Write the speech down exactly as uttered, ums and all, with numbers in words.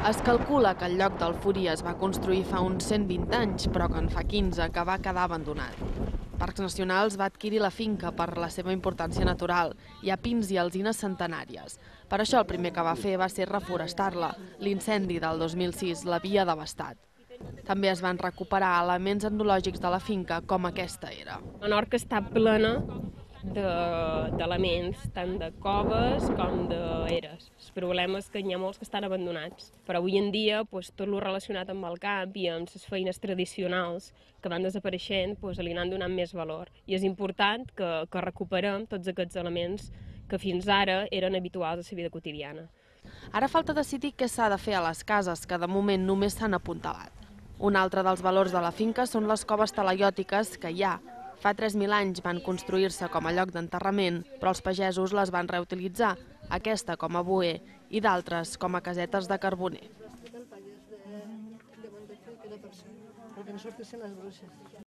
Es calcula que el lloc del Furí es va construir fa uns cent vint anys, però que en fa quinze que va quedar abandonat. Parcs Nacionals va adquirir la finca per la seva importància natural. Hi ha pins i alzines centenàries. Per això el primer que va fer va ser reforestar-la. L'incendi del dos mil sis l'havia devastat. També es van recuperar elements etnològics de la finca, com aquesta era. La Norca està plena d'elements, tant de coves com d'eres. El problema és que n'hi ha molts que estan abandonats, però avui en dia doncs, tot el relacionat amb el camp i amb les feines tradicionals que van desapareixent doncs, li han donat més valor. I és important que, que recuperem tots aquests elements que fins ara eren habituals a la vida quotidiana. Ara falta decidir què s'ha de fer a les cases, que de moment només s'han apuntalat. Un altre dels valors de la finca són les coves talaiòtiques que hi ha. Fa tres mil anys van construir-se com a lloc d'enterrament, però els pagesos les van reutilitzar, aquesta com a boer i d'altres com a casetes de carboner.